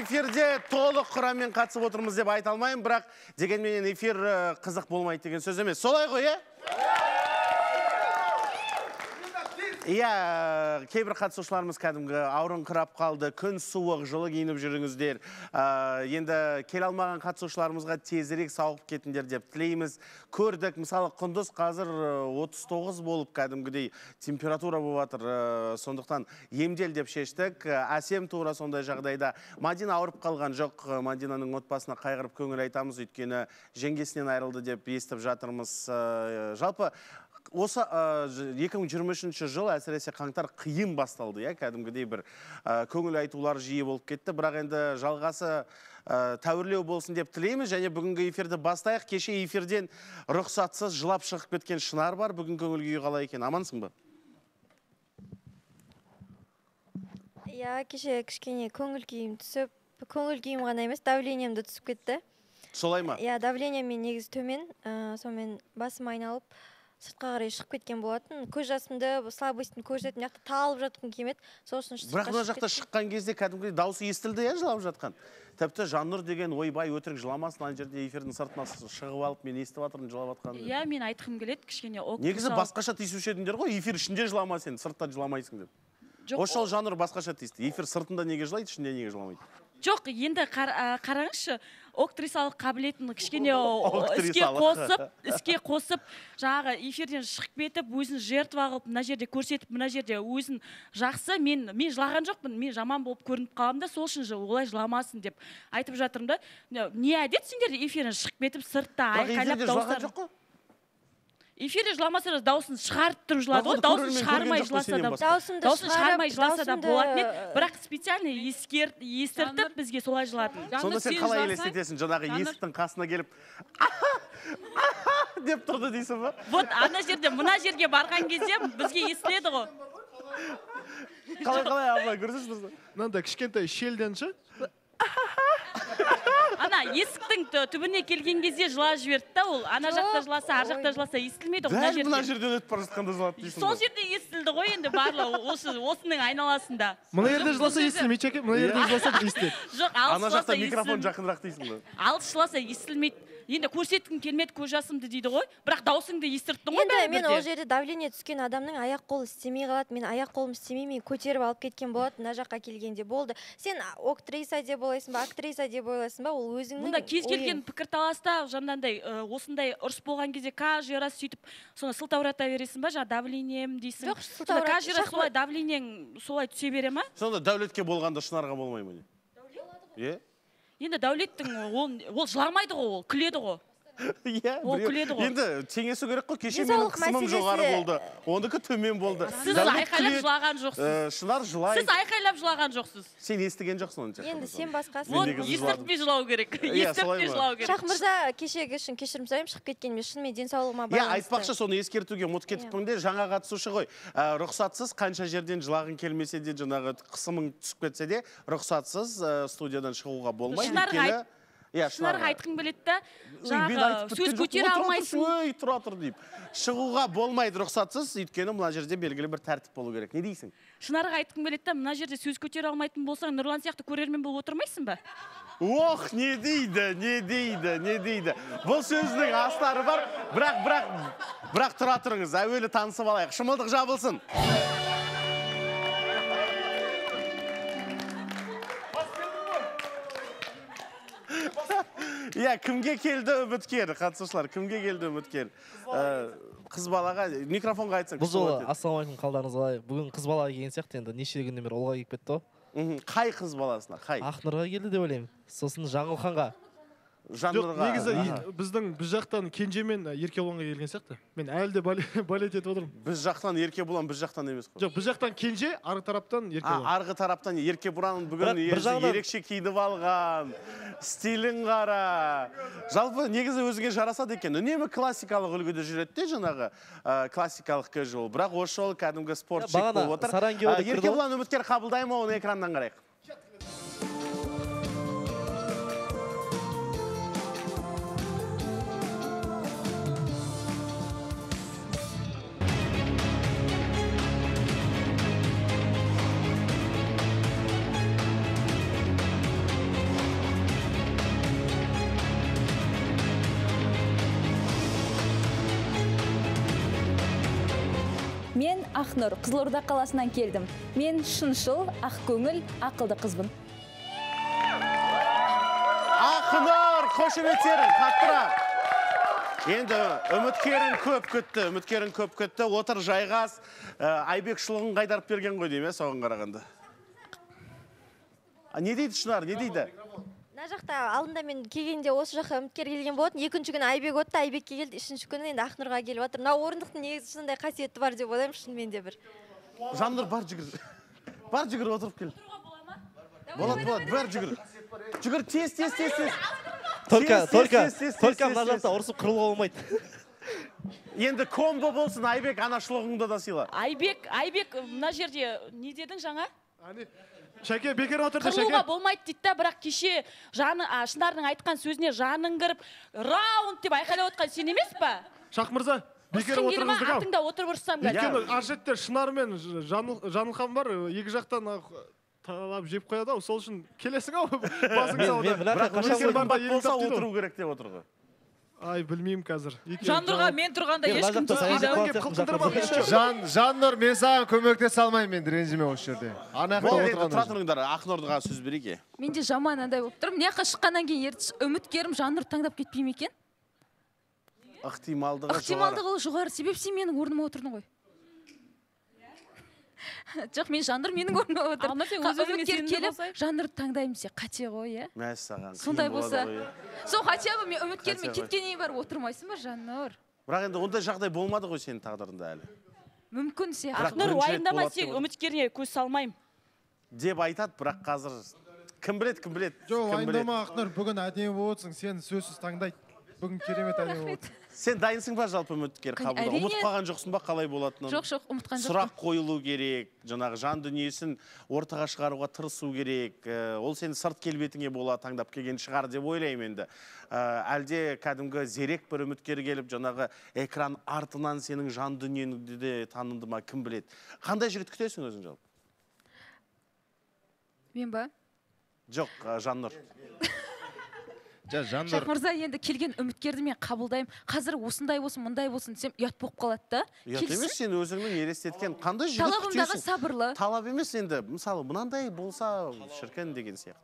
эфирде толық құраммен қатысып отырмыз деп айта алмаймын, бірақ дегенмен эфир қызық болмайды деген сөз емес. Солай ғой, Иә, кейбір қатысушыларымыз кәдімгі ауырыңқырап қалды, күн суық, жылы киініп жүріңіздер. Енді келе алмаған қатысушыларымызға тезірек сауығып кетіңдер деп тілейміз. Көрдік, мысалы Құндыз қазір 39 болып кәдімгідей температура болып жатыр. Сондықтан емдел деп шештік. Әсем тура сондай жағдайда. Мадина ауырып қалған жоқ. Мадинаның отбасына қайғырып көңіл айтамыз, өйткені жеңгесінен айырылды деп естіп жатырмыз. Жалпы осы 2023 жыл әсіресе қаңтар қиын басталды, кәдімгідей бір көңіл айтулар жиі болып кетті, бірақ енді жалғасы тәуірлеу болсын деп тілейміз, және бүгінгі эфирді бастайық. Кеше эфирден рұқсатсыз жылап шығып кеткен Шынар бар. Бүгін көңіл күйі қалай екен? Амансың ба? Иә, кеше кішкене көңіл күйім түсіп, көңіл күйім ғана емес, давлением де түсіп кетті. Солай ма? Иә, давлением мен негізі төмен, сонымен басым айналып сыртқа қарай шығып кеткен болатын. Көз жасымды, слабостьтің көрсететін яқты талып жатқым келмеді. Бірақ мына жақта шыққан кезде кәдімгідей дауысы естілді, жылап жатқан. Тіпті Жаннұр деген ойбай өтірік жыламасын, ана жерде эфирдің сыртына шығып алып, мен естіп жатырмын жылап жатқанын. Иә, мен айтқым келеді, кішкене негізі басқаша тиісуші едіңдер ғой, эфир ішінде жылама сен, сыртта жыламайсың деп. Осы жол Жаннұр басқаша тиісті. Эфир сыртында неге жылайды, ішінде неге жыламайды? Жоқ, енді қараңызшы, актрисалық қабілетін кішкене іске қосып, жаңағы эфирден шығып кетіп, өзін жертва қылып, мына жерде көрсетіп, мына жерде өзін жақсы, мен жылаған жоқпын, мен жаман болып көрініп қаламын да, сол үшін олай жыламасын деп айтып жатырмын да. Не әдет сендер эфирден шығып кетіп, сыртта айқайлап дауыстар. Эфирде жыламаса да дауысын шығарып тұрып жылады ғой, дауысын шығармай жыласа да болады, бірақ специально естіртіп бізге солай жылатын. Сонда сен қалай елестетесің, жаңағы есіктің қасына келіп деп тұрды дейсің ба? Вот, ана жерде, мына жерге барған кезде бізге естіледі ғой. Қалай, абылай, көрсесіз? Мынандай кішкентай шелден шы? Ана есіктің түбіне келген кезде жылап жіберді да, ол ана жақта жыласа, ар жақта жыласа естілмейді ғой. Дәл мына жерден өтіп бара жатқанда жылады дейсің. Сол жерде естілді ғой енді барлығы осының айналасында. Мына жерде жыласа естілмейді екен, мына жерде жыласа естіледі. Жоқ, алыс ана жақта микрофон жақынырақ дейсің ғой. Алыс жыласа естілмейді. Енді көрсеткім келмеді, көз жасымды дейді ғой, бірақ даусыңды естірттің ғой бәрібір де. Енді мен ол жерде давление түскен адамның аяқ қолы істемей қалады, мен аяқ қолым істемеймін, көтеріп алып кеткен болады, мына жаққа келгенде болды. Сен актриса деп ойлайсың ба, актриса деп ойлайсың ба, ол өзіңнің мұнда кез келген пікірталаста жаңағындай осындай ұрыс болған кезде каждый раз сөйтіп соны сылтаурата бересің ба, жаңа давлением дейсің. Жоқ, сылтаурата. Каждый раз солай давлениең солай түсе бере ма? Сонда дәулетке болғанда Шынарға болмай ма? Е? Енді дәулеттің ол жыламайды ғой, ол күледі ғой. Ол күледі ғой. Енді теңесу керек қой, кеше менің қысымым жоғары болды, оныкі төмен болды. Сіз айқайлап жылаған жоқсыз. Шынар жылайды. Сіз айқайлап жылаған жоқсыз. Сен естіген жоқсың оны. Енді сен басқасың. Вот, естіртпей жылау керек. Естіртпей жылау керек. Шах мырза, кешегі үшін кешірім сұраймын, шығып кеткеніме шынымен денсаулығыма байланысты. Айтпақшы, соны ескертуге ұмытып кетіппін де, жаңа қатысушы ғой. Рұқсатсыз қанша жерден жылағың келмесе де, жаңағы қысымың түсіп кетсе де, рұқсатсыз студиядан шығуға болмайды. Шынарға айтқың келеді да, жаңағы сөз көтере алмайсың. Өй, тұра тұр дейіп. Шығуға болмайды рұқсатсыз, өйткені мына жерде белгілі бір тәртіп болу керек. Не дейсің? Шынарға айтқың келеді да, мына жерде сөз көтере алмайтын болсаң, Нұрлан сияқты көрермен болып отырмайсың ба? Ох, не дейді. Бұл сөздің астары бар, бірақ тұра тұрыңыз, әуелі танысып алайық. Шымылдық жабылсын. Кімге келді үміткер, қатысушылар, кімге келді үміткер? Қыз балаға, микрофонға айтсаң. Бұл жолы, ассалаумалейкум, қалдарыңыз қалай. Бүгін қыз балаға келген сияқты, енді неше күннен бері олға келіп кетті ғой. Қай қыз баласына, қай? Ақнұрға келді деп ойлаймын. Сосын Жаңылханға. Негізі біз жақтан Кенжемен Еркебұланға келген сияқты. Мен әлі де балет етіп отырмын. Біз жақтан Еркебұлан, біз жақтан емес қой. Жоқ, біз жақтан Кенже, арғы тараптан Еркебұлан. Арғы тараптан Еркебұлан бүгін ерекше киініп алған, стилін қара. Жалпы негізі өзіңе жарасады екен. Үнемі классикалық үлгіде жүреді де, жаңағы классикалық кэжуал. Бірақ осы жолы кәдімгі спортшик болып отыр. Еркебұлан үміткер қабылдай ма, оны экраннан қарайық. Мен Ақнұр, Қызылорда қаласынан келдім. Мен шыншыл, ақкөңіл, ақылды қызбын. Ақнұр, қошеметтерің, қаттырақ. Енді үміткерін көп күтті, отыр жайғас, Айбек шұлығын қайдарып берген ғой дейме, соған қарағанда. Не дейді Шынар, не дейді? Мына жақта алдында мен келгенде осы жаққа үміткер келген болатын. Екінші күні Айбек өтті, Айбекке келді. Үшінші күні енді Ақнұрға келіп жатыр. Мына орындықтың негізі сондай қасиеті бар деп ойлаймын, шынымен де бір. Жаннұр, бар жүгір. Бар жүгір, отырып кел. Болады, бар жүгір. Жүгір, тез. Только мына жақта ұрысып қырылуға болмайды. Енді комбо болсын, Айбек анашылығыңды да сыйла. Айбек, мына жерде не дедің жаңа? Шәке, бекер отырды, Шәке. Қырылуға болмайды дейді да, бірақ кеше Шынардың айтқан сөзіне жаның кіріп, раунд деп айқайлап отқан сен емес па? Шақ мырза, бекер отырыңыздық ау. Атыңда отырып ұрсам қазір. Өйткені аршетте Шынар мен Жанылхан бар, екі жақтан талап жеп қояды ау, сол үшін келесің ау. Басың сауыда. Бірақ өскен бамбат болса отыру керек деп отырғы. Ай, білмеймін қазір. Жаннұрға мен тұрғанда ешкім түспейді. Жаннұр, мен саған көмектесе алмаймын, мен ренжіме осы жерде. Тұра тұрыңдар, Ақнұрға сөз береке. Мен де жаман андай болып тұрмын. Неққа шыққаннан кейін ертіс үміткерім Жаннұр таңдап кетпей ме екен? Ықтималдығы жоғары, себеп сен менің орныма отырдың ғой. Жоқ, мен Жаннұр менің орныма отыр. Үміткер келіп, Жаннұр таңдаймын се, қате ғой, е? Мәссаған. Сондай болса. Сол хотя бы мен үміткермен кеткеннен барып отырмайсың ба, Жаннұр? Бірақ енді ондай жағдай болмады ғой сенің тағдырында әлі. Мүмкін се. Ақнұр уайымдама, сен үміткеріне көз салмаймын деп айтады, бірақ қазір кім біледі? Жоқ, уайымдама Ақнұр, бүгін әдемі болсың, сен сөзсіз таңдайды. Бүгін керемет әдемі болды. Сен дайынсың ба жалпы үміткер қабылдауға? Ұмытып қалған жоқсың ба қалай болатынын? Жоқ, ұмытқан жоқпын. Сұрақ қойылу керек, жаңағы жан дүниесін ортаға шығаруға тырысу керек. Ол сен сырт келбетіңе бола таңдап келген шығар деп ойлаймын енді. Әлде кәдімгі зерек бір үміткер келіп, жаңағы экран артынан сенің жан дүниеңді де танынды ма, кім біледі? Қандай жігіт күтесің өзің жалпы? Мен ба? Жоқ, Жаннұр. Шақ мырза, енді келген үміткерді мен қабылдаймын. Қазір осындай болсын, мұндай болсын десем, ұят болып қалады да. Ұят емес, сен өзіңнің елестеткен қандай жігіт күтесің? Талабымдағы сабырлы. Талап емес енді, мысалы, мынандай болса шіркін деген сияқты.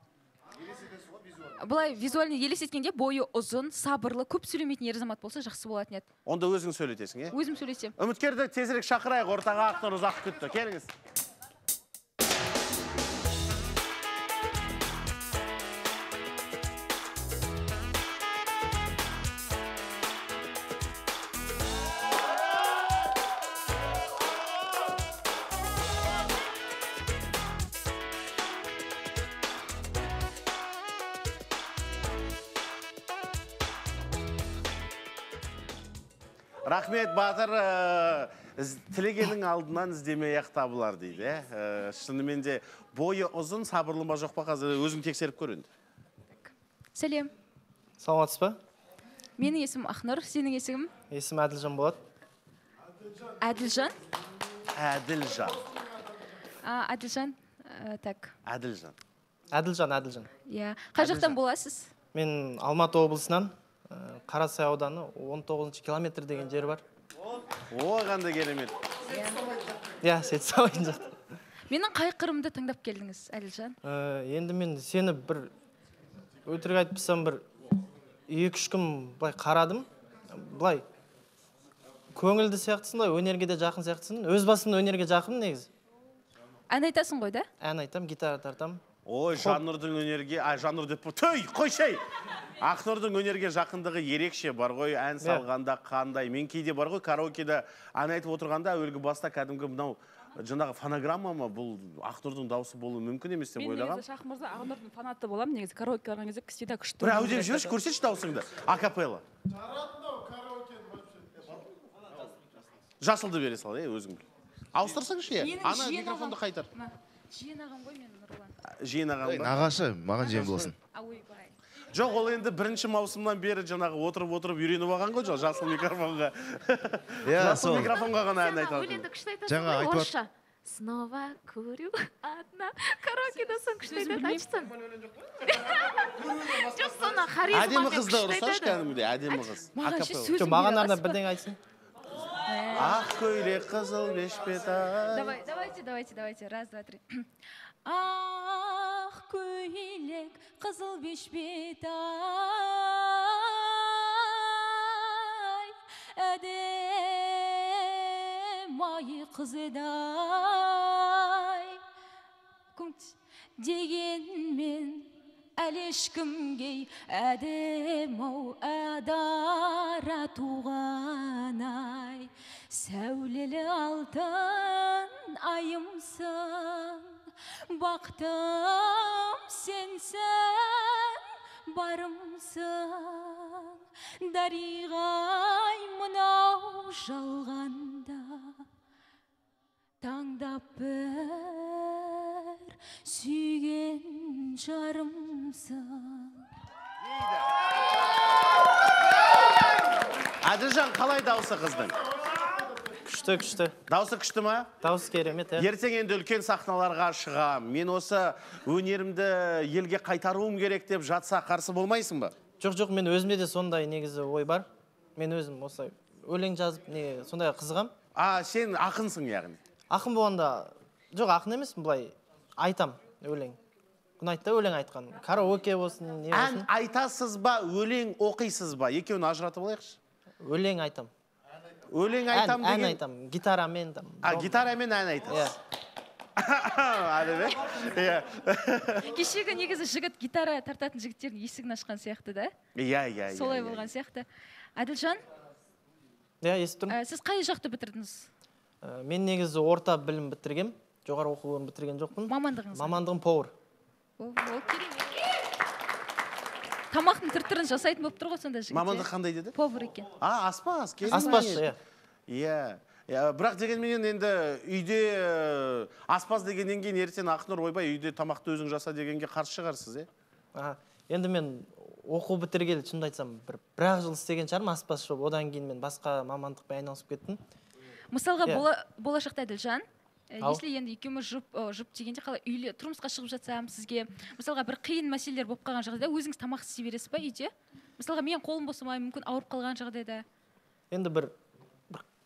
Бұлай визуальный елестеткенде бойы ұзын, сабырлы, көп сөйлемейтін ер азамат болса жақсы болатын еді. Онда өзің сөйлетесің, е? Өзім сөйлесем. Үміткерді тезірек шақырайық, ортаға Ақнұр ұзақ күтті. Келіңіз. Рахмет, Батыр, тілегенің алдынан іздемей ақ табылар дейді. Шынымен де бойы ұзын, сабырлы ма жоқ па, қазір өзің тексеріп көрінді. Сәлем. Саламатсыз ба? Менің есімім Ақнұр, сенің есімің? Есім Әділжан болады. Әділжан? Әділжан. Әділжан, так. Әділжан. Иә. Қай жақтан боласыз? Мен Алматы облысынан, Қарасай ауданы 19 километр деген жер бар. О, қандай керемет. Иә, сет сауайын жақты. Менің қай қырымды таңдап келдіңіз, Әділжан? Енді мен сені бір өтірік айтпасам бір 2-3 күн былай қарадым. Былай көңілді сияқтысың, өнерге де жақын сияқтысың. Өз басымда өнерге жақын негіз. Ән айтасың ғой да? Ән айтам, гитара тартам. Ой, Жаннұрдың өнерге, Жаннұр деп төй, қойшай! Ақнұрдың өнерге жақындығы ерекше бар ғой, ән салғанда қандай. Мен кейде бар ғой, караокеде ән айтып отырғанда әуелгі баста кәдімгі мынау жаңағы фонограмма ма, бұл Ақнұрдың дауысы болуы мүмкін емес деп ойлағам. Мен негізі Шақ мырза Ақнұрдың фанаты боламын, негізі караоке барған кезде всегда күшті. Бір әудеп жүрші, көрсетші дауысыңды, акапелла. Жасылды бере сал, өзің біл. Ауыстырсаңшы, ана микрофонды қайтар. Жиен ағам ғой мен Нұрлан. Жиен ағам ба? Нағашы, маған жиен болсын. Жоқ, ол енді бірінші маусымнан бері жаңағы отырып үйреніп алған ғой, жоқ, жасыл микрофонға. Жасыл микрофонға ғана ән айтады. Өлеңді күшті айтасың ғой, орысша. Снова курю одна. Караокеда соң күшті айтады, айтсын. Жоқ, соны харизма әдемі қызды ұрысаш кәдімгідей, әдемі қыз. Маған ше сөзім маған арнап бірдеңе айтсын. Ақ көйлек қызыл бешпет-ай. Давайте. Раз, два, три. Ақ көйлек қызыл бешпет-ай, әдемі қызыдай. Дегенмен әлі ешкімге әдем-ау адара туған-ай. Сәулелі алтын айымсың, бақтым сенсің, барымсың. Дариғай мынау жалғанда, таңдап бір сүйген жарымсың. Әділжан, қалай дауысы қыздың? Күшті. Дауысы күшті ма? Дауысы керемет, Ертең енді үлкен сахналарға шығам. Мен осы өнерімді елге қайтаруым керек деп жатса қарсы болмайсың ба? Жоқ, мен өзімде де сондай негізі ой бар. Мен өзім осылай өлең жазып, сондай қызығам. Сен ақынсың яғни? Ақын болғанда, жоқ ақын емес, былай айтам өлең. Күнайтта өлең айтқан. Караоке болсын, не болсын. Ән айтасыз ба, өлең оқисыз ба? Екеуін ажыратып алайықшы. Өлең айтам. Өлең айтам деген... Ән айтам, гитарамен. Гитарамен ән айтасыз. Кешегі негізі жігіт гитара тартатын жігіттердің есігін ашқан сияқты да? Иә. Солай болған сияқты. Әділжан? Естіп тұрмын. Сіз қай жақты бітірдіңіз? Мен негізі орта білім бітіргем. Жоғары оқу орнын бітірген жоқпын. Мамандығыңыз? Мамандығым повар. Тамақтың түр-түрін жасайтын болып тұр ғой сонда жігіт. Мамандық қандай деді? Повар екен. Аспаз. Аспазшы, иә. Бірақ дегенмен енді үйде аспаз дегеннен кейін ертең Ақнұр ойбай үйде тамақты өзің жаса дегенге қарсы шығарсыз, Енді мен оқу бітіргелі шынымды айтсам бір-ақ жыл істеген шығармын аспазшы болып. Одан кейін мен басқа мамандықпен айналысып кеттім. Мысалға болашақта Әділжан, если енді екеуміз жұп дегенде қалай үйлі тұрмысқа шығып жатсам сізге, мысалға бір қиын мәселелер болып қалған жағдайда өзіңіз тамақ істей бересіз ба үйде? Мысалға мен қолым босамай, мүмкін ауырып қалған жағдайда. Енді бір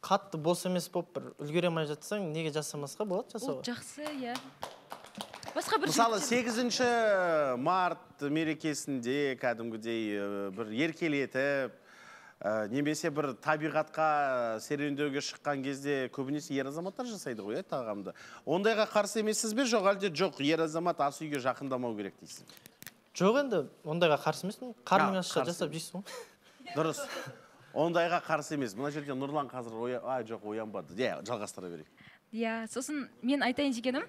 қатты бос емес болып бір үлгере алмай жатсаң, неге жасамасқа болады жасауға? Ол жақсы, иә. Мысалы 8 март мерекесінде кәдімгідей бір еркелетіп, немесе бір табиғатқа серуендеуге шыққан кезде көбінесе ер азаматтар жасайды ғой, тағамды. Ондайға қарсы емессіз бе, жоқ әлде жоқ, ер азамат ас үйге жақындамау керек дейсің? Жоқ, енді ондайға қарсы емеспін. Қарның ашса жасап жейсің ғой. Дұрыс. Ондайға қарсы емес. Мына жерде Нұрлан қазір жоқ, оянбады. Жалғастыра берейік. Сосын мен айтайын дегенім.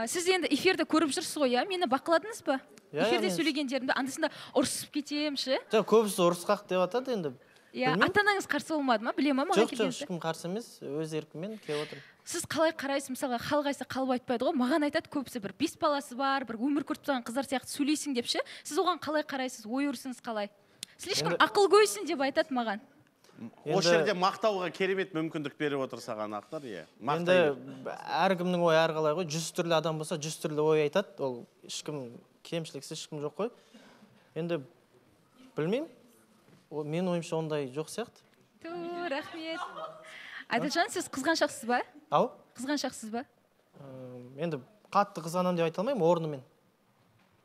Сіз енді эфирді көріп жүрсіз ғой, мені бақыладыңыз ба? Эфирде сөйлегендерімді андысында ұрысып кетемші? Жоқ, көбісі ұрысқақ деп атады енді. Ата-анаңыз қарсы болмады ма? Біле ма маған келгенді? Жоқ, ешкім қарсы емес, өз еркіммен келіп отырмын. Сіз қалай қарайсыз, мысалға халық айтса қалып айтпайды ғой, маған айтады көбісі бір 5 баласы бар, бір өмір көріп тұрған қыздар сияқты сөйлейсің депші. Сіз оған қалай қарайсыз, ой өрісіңіз қалай? Слишком ақылгөйсің деп айтады маған. Осы жерде мақтауға керемет мүмкіндік беріп отыр саған Ақнұр, Енді әркімнің ой әрқалай ғой, 100 түрлі адам болса, 100 түрлі ой айтады. Ол ешкім кемшіліксіз ешкім жоқ қой. Енді білмеймін. Мен ойымша ондай жоқ сияқты. Рахмет. Әділжан, сіз қызғаншақсыз ба? Ау? Қызғаншақсыз ба? Енді қатты қызғанам деп айта алмаймын, орнымен.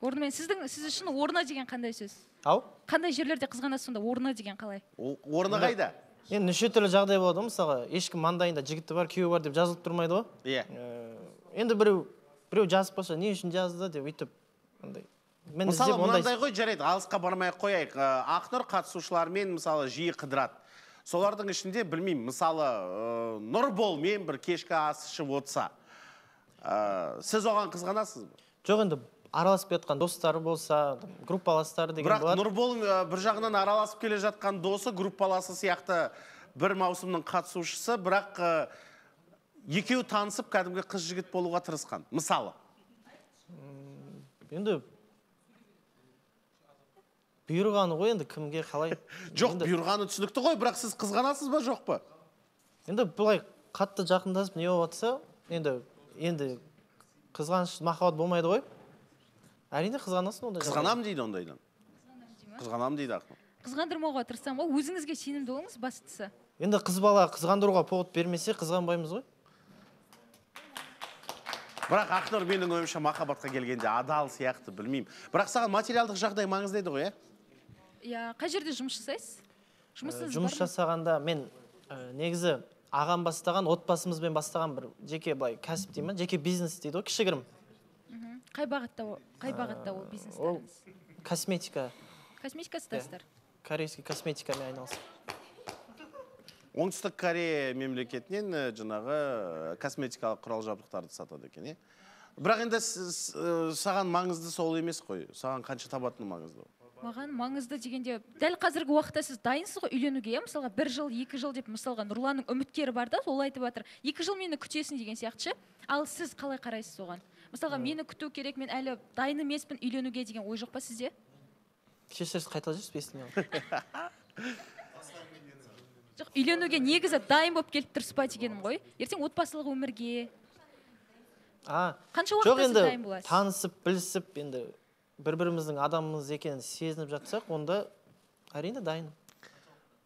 Орнымен. Сіз үшін орны деген қандай сөз? Ау? Қандай жерлерде қызғанасыз сонда, орны деген қалай? Орны қайда? Енді неше түрлі жағдай болады, мысалға, ешкім маңдайында жігіті бар, күйеуі бар деп жазылып тұрмайды ғой. Иә. Енді біреу жазып болса, не үшін жазды деп өйтіп. Мысалы, мынандай ғой, жарайды, алысқа бармай қояйық. Ақнұр қатысушылармен мысалы жиі қыдырады. Солардың ішінде білмеймін, мысалы, Нұрболмен бір кешкі ас ішіп отса, сіз оған қызғанасыз ба? Жоқ, енді араласып жатқан достары болса, группаластары деген болады. Бірақ Нұрбол бір жағынан араласып келе жатқан досы, группаласы сияқты бір маусымның қатысушысы, бірақ екеуі танысып кәдімгі қыз жігіт болуға тырысқан. Мысалы. Енді бұйырғаны ғой, енді кімге қалай? Жоқ, бұйырғаны түсінікті ғой, бірақ сіз қызғанасыз ба, жоқ па? Енді бұлай қатты жақындасып не болып жатса, енді қызғаныш махаббат болмайды ғой. Әрине қызғанасың ондай. Қызғанам дейді ондайдан. Қызғанам дейді Ақнұр. Қызғандырмауға тырысам ғой, өзіңізге сенімді болыңыз бастысы. Енді қыз бала қызғандыруға повод бермесе, қызғанбаймыз ғой. Бірақ Ақнұр менің ойымша махаббатқа келгенде адал сияқты, білмеймін. Бірақ саған материалдық жағдай маңызды еді ғой, Иә, қай жерде жұмыс жасайсыз? Жұмыс жасағанда мен негізі ағам бастаған, отбасымызбен бастаған бір жеке былай кәсіп деймін, жеке бизнес дейді ғой, кішігірім. Қай бағытта ол бизнестеріңіз? Косметика. Косметика сатасыздар? Корейский косметикамен айналысып. Оңтүстік Корея мемлекетінен жаңағы косметикалық құрал жабдықтарды сатады екен, Бірақ енді саған маңызды сол емес қой. Саған қанша табатыны маңызды? Маған маңызды дегенде, дәл қазіргі уақытта сіз дайынсыз ғой үйленуге, мысалға 1 жыл, 2 жыл деп, мысалға Нұрланның үміткері бар да, ол айтып жатыр. 2 жыл мені күтесің деген сияқты. Ал сіз қалай қарайсыз оған? Мысалға мені күту керек, мен әлі дайын емеспін үйленуге деген ой жоқ па сізде? Кешіріңіз, қайталап жүрсіз, естімей қалдым. Жоқ, үйленуге негізі дайын болып келіп тұрсыз ба дегенім ғой. Ертең отбасылық өмірге. Қанша уақытта сіз дайын боласыз? Танысып, білісіп, енді бір-біріміздің адамымыз екенін сезініп жатсақ, онда әрине дайын.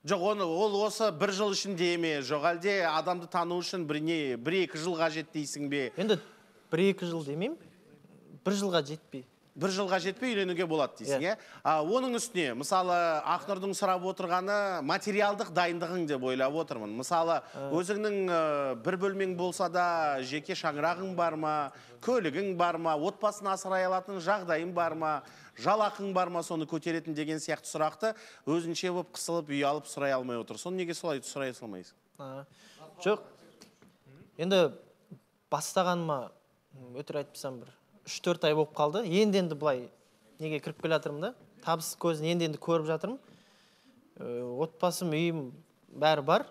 Жоқ, ол осы 1 жыл ішінде еме, жоқ әлде адамды тану үшін 1-2 жыл қажет дейсің бе? Енді 1-2 жыл демеймін, 1 жылға жетпей. 1 жылға жетпей үйленуге болады дейсің, Оның үстіне, мысалы, Ақнұрдың сұрап отырғаны материалдық дайындығың деп ойлап отырмын. Мысалы, өзіңнің 1 бөлмең болса да, жеке шаңырағың бар ма, көлігің бар ма, отбасын асырай алатын жағдайың бар ма, жалақың бар ма, соны көтеретін деген сияқты сұрақты өзінше болып қысылып, үй алып сұрай алмай отыр. Соны неге солай сұрай салмайсың? Жоқ. Енді бастағаныма өтір айтпасам бір 3-4 ай болып қалды. Енді бұлай неге кіріп келе жатырмын да. Табыс көзін енді көріп жатырмын. Отбасым, үйім бәрі бар.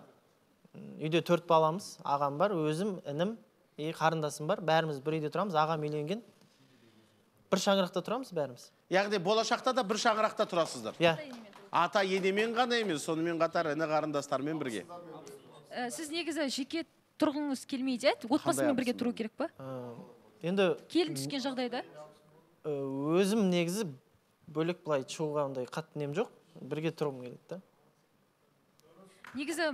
Үйде 4 баламыз, ағам бар, өзім, інім, қарындасым бар. Бәріміз бір үйде тұрамыз, ағам үйленген. Бір шаңырақта тұрамыз бәріміз. Яғни болашақта да бір шаңырақта тұрасыздар. Иә. Ата енемен ғана емес, сонымен қатар іні қарындастармен бірге. Сіз негізі жеке тұрғыңыз келмейді, отбасымен бірге тұру керек па? Енді келін түскен жағдайда? Өзім негізі бөлек бұлай шығуға ондай қатты нем жоқ. Бірге тұрғым келеді да. Негізі,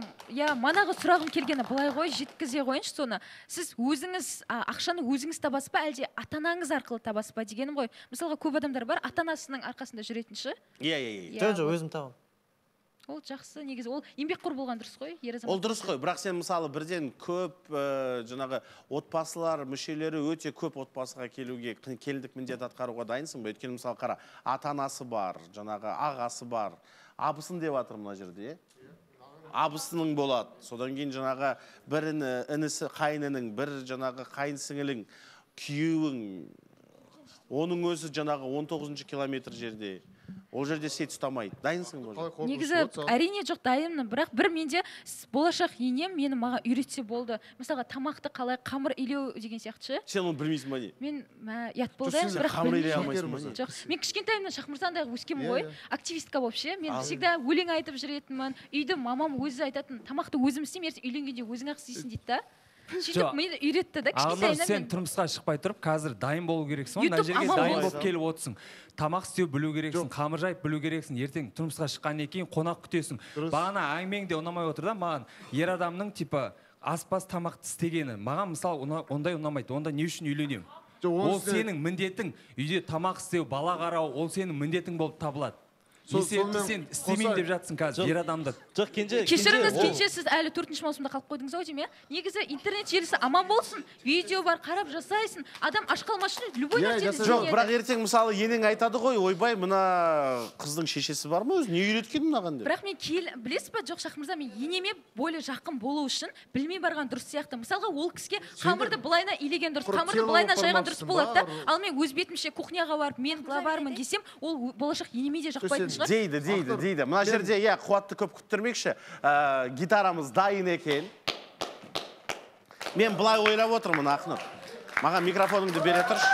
манағы сұрағым келгені былай ғой, жеткізе қойыншы соны. Сіз өзіңіз ақшаны өзіңіз табасыз ба, әлде ата-анаңыз арқылы табасыз ба дегенім ғой. Мысалға көп адамдар бар, ата-анасының арқасында жүретінші. Иә. Өзім табам. Ол жақсы, негізі ол еңбекқор болған дұрыс қой, ер азамат. Ол дұрыс қой, бірақ сен мысалы бірден көп жаңағы отбасылар мүшелері өте көп отбасыға келуге, келіндік міндет атқаруға дайынсың ба? Өйткені мысалы қара, ата-анасы бар, жаңағы ағасы бар, абысын деп жатыр мына жерде, абысының болады. Содан кейін жаңағы бір інісі, қайнының, бір жаңағы қайынсіңілің, күйеуің, оның өзі жаңағы 19 километр жерде. Ол жерде сет ұстамайды. Дайынсың ба? Негізі әрине жоқ, дайынмын. Бірақ бір менде болашақ енем мені маған үйретсе болды. Мысалға тамақты қалай қамыр илеу деген сияқты. Сен оны білмейсің ба не? Мен ұят болды, бірақ білмеймін. Мен кішкентайымнан Шахмырзандай өскенмін ғой, активистка болып ше. Мен всегда өлең айтып жүретінмін. Үйді мамам өзі айтатын, тамақты өзім істеймін, ертең үйленгенде өзің ақ істейсің дейді да. Сөйтіп мені үйретті да, кішкентайымнан. Сен тұрмысқа шықпай тұрып, қазір дайын болу керексің, мына жерге дайын болып келіп отырсың. Тамақ істеу білу керексің, қамыр жайып білу керексің. Ертең тұрмысқа шыққаннан кейін қонақ күтесің. Бағана әңгімеңде ұнамай отыр да, маған ер адамның типа аспаз тамақты істегені. Маған мысалы ондай ұнамайды. Онда не үшін үйленемін? Ол сенің міндетің. Үйде тамақ істеу, бала қарау, ол сенің міндетің болып табылады. Есепті сен істемеймін деп жатсың қазір, ер адамды. Кешіріңіз, кенже сіз әлі 4-ші маусымда қалып қойдыңыз ау деймін, негізі интернет желісі аман болсын, видео бар, қарап жасайсың, адам аш қалмас үшін любой нәрсені істейді. Жоқ, бірақ ертең мысалы енең айтады ғой, ойбай, мына қыздың шешесі бар ма өзі, не үйреткен мынаған деп. Бірақ мен білесіз ба, жоқ Шахмырза, мен енеме более жақын болу үшін білмей барған дұрыс сияқты. Мысалға ол кісіге қамырды былайна илеген дұрыс, қамырды былайна жайған дұрыс болады да. Ал мен өз бетімше кухняға барып, мен главармын десем, ол болашақ енеме де жақпайтын шығар. Дейді. Мына жерде, қуатты көп күттірмекші. Гитарамыз дайын екен. Мен бұлай ойлап отырмын, Ақнұр. Маған микрофоныңды бере тұршы.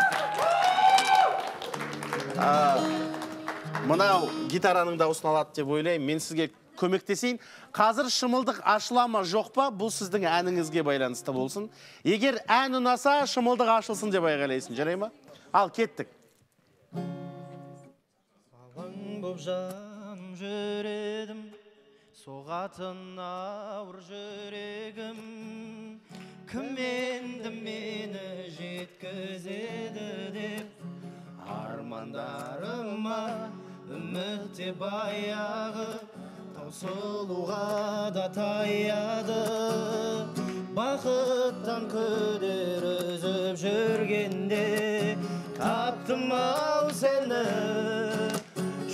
Мынау гитараның дауысын алады деп ойлаймын. Мен сізге көмектесейін. Қазір шымылдық ашыла ма жоқ па, бұл сіздің әніңізге байланысты болсын. Егер ән ұнаса, шымылдық ашылсын деп айғайлайсың. Жарай ма? Ал, кеттік. Боп жаным жүредім, соғатын ауыр жүрегім кім енді мені жеткізеді деп армандарыма үмітте баяғы таусылуға да таяды бақыттан күдер үзіп жүргенде таптым ау сені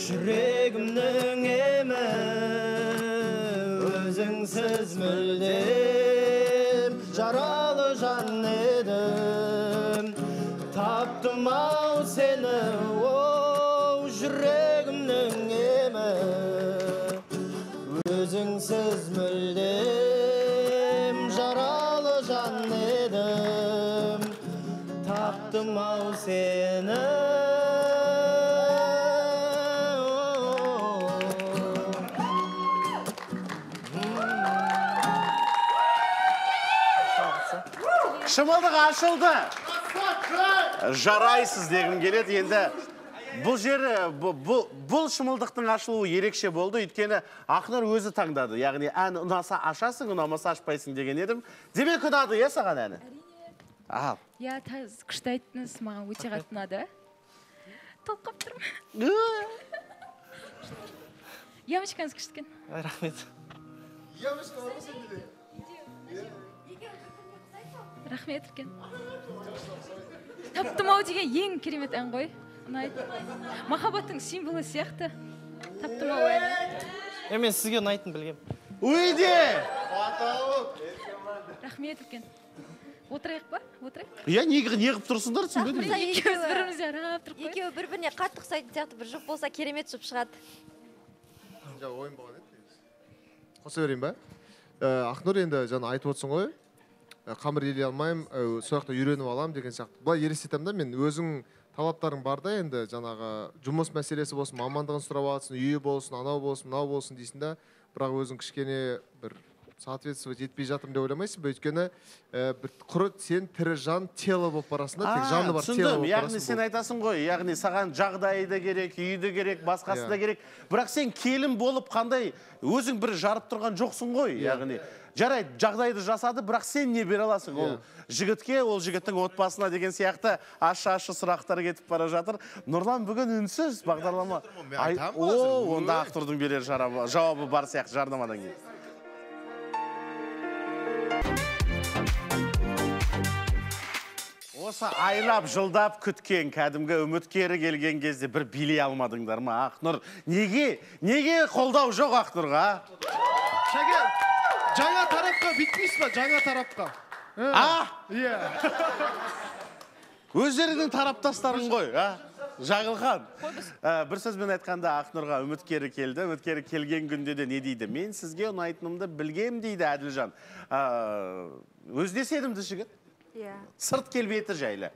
жүрегімнің емі өзіңсіз мүлдем жаралы жан едім таптым ау сені оу жүрегімнің емі өзіңсіз мүлдем жаралы жан едім таптым ау сені Шымылдық ашылды. Жарайсыз дегім келеді. Енді бұл жері, бұл шымылдықтың ашылуы ерекше болды. Өйткені Ақнұр өзі таңдады. Яғни ән ұнаса ашасың, ұнамаса ашпайсың деген едім. Демек ұнады, е саған әні? Ал. Я күшті айттыңыз, маған өте қатты ұнады. Толқып тұрмын. Ямочкаңыз күшті екен. Рахмет. Ямочка бар ма сенде? Рахмет үлкен. Таптым ау деген ең керемет ән ғой. Ұнайды. Махаббаттың символы сияқты. Таптым ау әні. Мен сізге ұнайтын білгем. Өйде! Рахмет үлкен. Отырайық ба? Отырайық? Я не қып тұрсыңдар, түсінбедім. Екеуміз бірімізге аралап тұрып қой. Екеуі бір-біріне қатты ұқсайтын сияқты, бір жұп болса керемет жұп шығады. Ойын болған еді. Қоса берейін ба? Ақнұр енді жаңа айтып отырсың ғой. Қамыр елей алмайым, сояқта үйреніп алам деген сияқты. Бұлай елестетем да, мен өзің талаптарың бар да, енді жаңағы жұмыс мәселесі болсын, мамандығын сұрап аласың, үйі болсын, анау болсын, мынау болсын дейсің да, бірақ өзің кішкене бір соответствовать етпей жатырмын деп ойламайсың ба? Өйткені құры сен тірі жан тело болып барасың да, тек жаны бар тело болып барасың. Яғни сен айтасың ғой, яғни саған жағдайы да керек, үйі де керек, басқасы да керек. Бірақ сен келін болып қандай өзің бір жарып тұрған жоқсың ғой, яғни. Жарайды, жағдайды жасады, бірақ сен не бере аласың? Ол жігітке, ол жігіттің отбасына деген сияқты ашы сұрақтар кетіп бара жатыр. Нұрлан бүгін үнсіз бағдарлама. Онда Ақнұрдың берер жауабы бар сияқты жарнамадан кейін. Осы айлап, жылдап күткен, кәдімгі үміткері келген кезде бір билей алмадыңдар ма, Ақнұр? Неге қолдау жоқ Ақнұрға? Шәке, жаңа тарапқа бітпейсіз ба, жаңа тарапқа? Иә. Өздерінің тараптастарын ғой, Жағылған. Бір сөзбен айтқанда Ақнұрға үміткері келді. Үміткері келген күнде де не дейді? Мен сізге ұнайтынымды білгем дейді Әділжан. Өзіне сенімді жігіт. Сырт келбеті жайлы.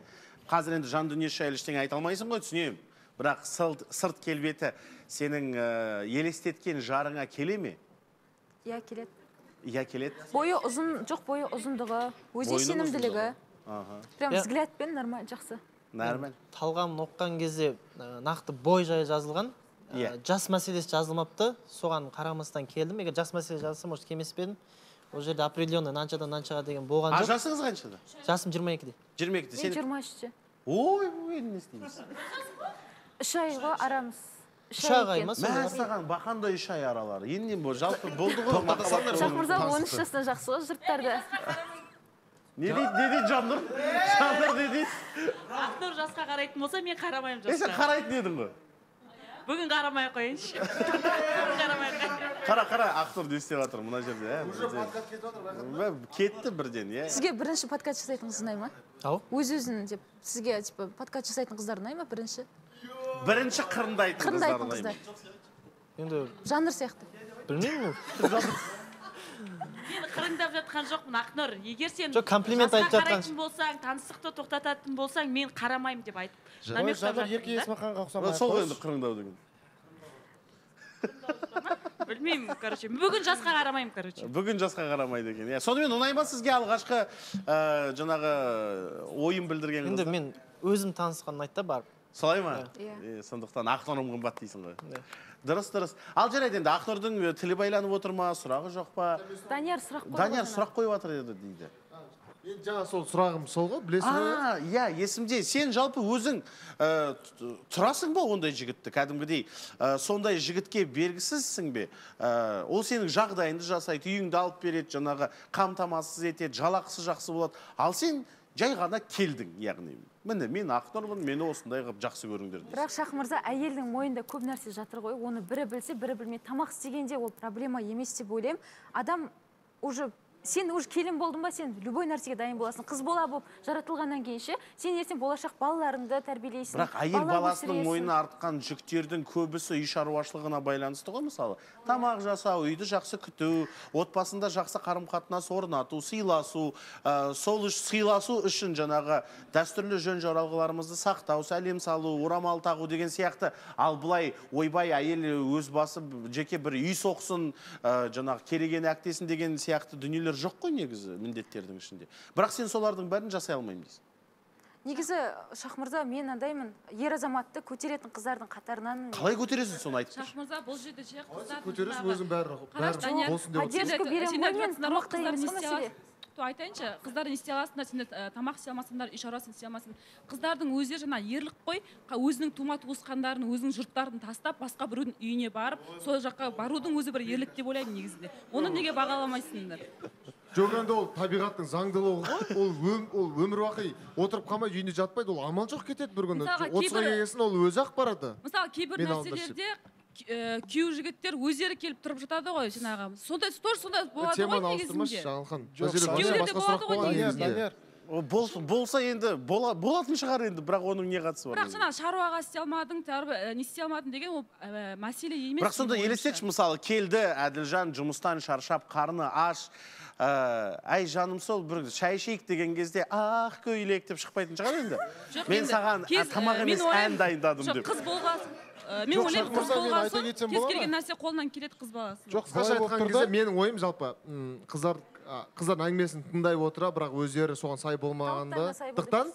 Қазір енді жан дүниесі жайлы ештеңе айта алмайсың ғой, түсінемін. Бірақ сырт келбеті сенің елестеткен жарыңа келе ме? Иә, келеді. Иә, келеді. Бойы ұзын, жоқ бойы ұзындығы, өзіне сенімділігі. Прям взглядпен нормально, жақсы. Нормально. Талғамын оққан кезде нақты бой жайы жазылған. Жас мәселесі жазылмапты. Соған қарамастан келдім. Егер жас мәселесі жазылса, может, келмес пе едім. Ол жерде определенный наншадан наншаға деген болған жоқ. Жасыңыз қаншада? Жасым 22-де. 22-де. Мен 23-те. Ой, не істейміз? 3 айға арамыз. 3 айға ма? Мән саған бақандай 3 ай аралары. Енді жалпы болды ғой. Жақмырза 13 жасында жақсы ғой жұрттарды. Не дейді Жаннұр? Жаннұр не дейді? Ақнұр жасқа қарайтын болса, мен қарамайым жасқа. Сен қарайтын едің ғой? Бүгін қарамай қойыншы. Қара, Ақнұр не істеп жатыр мына жерде. Кетті бірден, е? Сізге бірінші подкаст жасайтын қыз ұнай ма? Өз-өзін деп, сізге подкаст жасайтын қыздар ұнай ма бірінші? Бірінші қырындайтын қыздар. Жанр сияқты. Білмеймін Мен қырындап жатқан жоқпын, Ақнұр. Егер сен жасқа қарайтын болсаң, таныстықты тоқтататын болсаң, мен қарамайым деп айтып. Жанр ерке Есмаханға ұқсамай. Сол енді қырындау деген. Білмеймін, короче. Бүгін жасқа қарамайым, короче. Бүгін жасқа қарамайды екен. Сонымен ұнай ма сізге алғашқы жаңағы ойын білдірген қыздар? Енді мен өзім танысқан ұнайды да барып. Солай ма? Сондықтан Ақнұрым қымбат дейсің ғой. Дұрыс. Ал жарайды енді Ақнұрдың тілі байланып отыр ма, сұрағы жоқ па? Данияр сұрақ қойып жатыр еді дейді. Мен жаңа сол сұрағым сол ғой, білесің бе? Иә, есімде. Сен жалпы өзің тұрасың ба ондай жігітті, кәдімгідей? Сондай жігітке бергісізсің бе? Ол сенің жағдайыңды жасайды, үйіңді алып береді, жаңағы қамтамасыз етеді, жалақысы жақсы болады. Ал сен жай ғана келдің, яғни. Міне, мен Ақнұрмын, мені осындай қылып жақсы көріңдер дейсің. Бірақ Шах мырза, әйелдің мойнында көп нәрсе жатыр ғой. Оны бірі білсе, бірі білмей. Тамақ істегенде ол проблема емес деп ойлаймын. Адам сен уже келін болдың ба, сен любой нәрсеге дайын боласың. Қыз бола болып жаратылғаннан кейін ше, сен ертең болашақ балаларыңды тәрбиелейсің. Бірақ әйел баласының мойнына артқан жүктердің көбісі үй шаруашылығына байланысты ғой, мысалы. Тамақ жасау, үйді жақсы күту, отбасында жақсы қарым-қатынас орнату, сыйласу, сол сыйласу үшін жаңағы дәстүрлі жөн жоралғыларымызды сақтау, сәлем салу, орамал тағу деген сияқты. Ал бұлай ойбай әйел өз басы жеке бір үй соқсын, жаңағы кереген әктесін деген сияқты дүниелер жоқ қой негізі міндеттердің ішінде. Бірақ сен солардың бәрін жасай алмаймын дейсің. Негізі Шах мырза, мен андаймын, ер азаматты көтеретін қыздардың қатарынан. Қалай көтересің соны айтып? Шах мырза, бұл жерде ше қыздардың көтересің өзің бәрі болсын деп отырсың. Айтайыншы, қыздар не істей аласыңдар, сендер тамақ істей алмасыңдар, үй шаруасын істей алмасың. Қыздардың өздері жаңа ерлік қой, өзінің тума туысқандарын, өзінің жұрттарын тастап, басқа біреудің үйіне барып, сол жаққа барудың өзі бір ерлік деп ойлаймын негізінде. Оны неге бағаламайсыңдар? Жоқ, енді ол табиғаттың заңдылығы ғой, ол өмір бақи отырып қалмай үйінде жатпайды, ол амал жоқ кетеді бір күні. 30-ға келгесін ол өзі ақ барады. Мысалы, кейбір нәрселерде күйеу жігіттер өздері келіп тұрып жатады ғой, жаңағы. Сондай болады ғой негізінде. Күйеулерде болады ғой негізінде. Болса енді болатын шығар енді, бірақ оның не қатысы бар? Бірақ жаңа шаруаға істей алмадың, не істей алмадың деген ол мәселе емес. Бірақ сонда елестетші, мысалы, келді Әділжан жұмыстан шаршап, қарны аш, әй жаным сол бір шай ішейік деген кезде ақ көйлек деп шықпайтын шығар енді. Мен саған тамақ емес ән дайындадым деп. Қыз болғасын. Мен ойлаймын, қыз болғасын, кез келген нәрсе қолынан келеді қыз баласы. Жоқ, қысқаша айтқан кезде менің ойым жалпы қыздардың әңгімесін тыңдай отыра, бірақ өздері соған сай болмағандықтан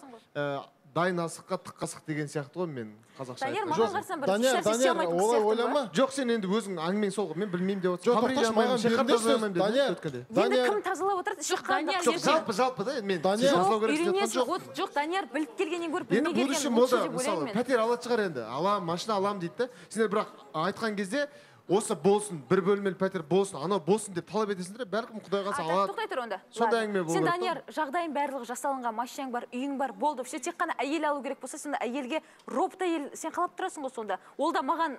дайын асыққа тық қасық деген сияқты ғой, мен қазақша айтқан. Данияр, олай ойлама. Жоқ, сен енді өзің әңгімең сол ғой, мен білмеймін деп отырсың. Енді кім тазалап отырады? Жоқ, жалпы да, мен тазалау керек деп жатқан жоқ. Жоқ, Данияр біліп келгеннен көріп білмей келген лучше деп ойлаймын. Пәтер алады шығар енді, машина алам дейді да. Сендер бірақ айтқан кезде осы болсын, бір бөлмелі пәтер болсын, анау болсын деп талап етесіңдер, бәлкім Құдай қаласа алады. Тоқтай тұр онда. Сондай әңгіме болу керек. Сен Данияр, жағдайың барлығы жасалынған, машинаң бар, үйің бар, болды. Тек қана әйел алу керек болса, сонда әйелге робот әйел сен қалап тұрасың ғой сонда. Ол да маған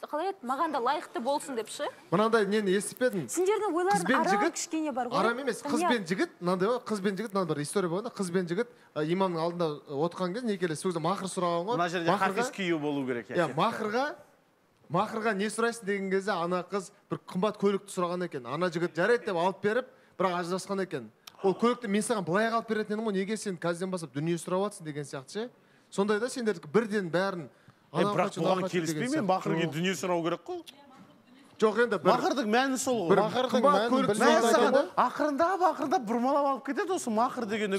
қалай еді, маған да лайықты болсын деп ше. Мынандай нені естіп едім? Сендердің ойларың ара кішкене бар ғой. Арам емес, қыз бен жігіт, мынандай ғой, қыз бен жігіт, мынандай бір история болғанда, қыз бен жігіт имамның алдында отырған кезде некелес, сол кезде махр сұраған ғой. Мына жерде хафиз күйеу болу керек. Махырға не сұрайсың деген кезде ана қыз бір қымбат көлікті сұраған екен. Ана жігіт жарайды деп алып беріп, бірақ ажырасқан екен. Ол көлікті мен саған былай алып беретін едім ғой, неге сен қазірден бастап дүние сұрап жатсың деген сияқты ше. Сондай да сендер бірден бәрін. Бірақ бұған келіспеймін, махырға дүние сұрау керек қой. Жоқ енді махырдың мәні сол ғой. Махырдың мәні ақырындап бұрмалап алып кетеді осы махыр деген.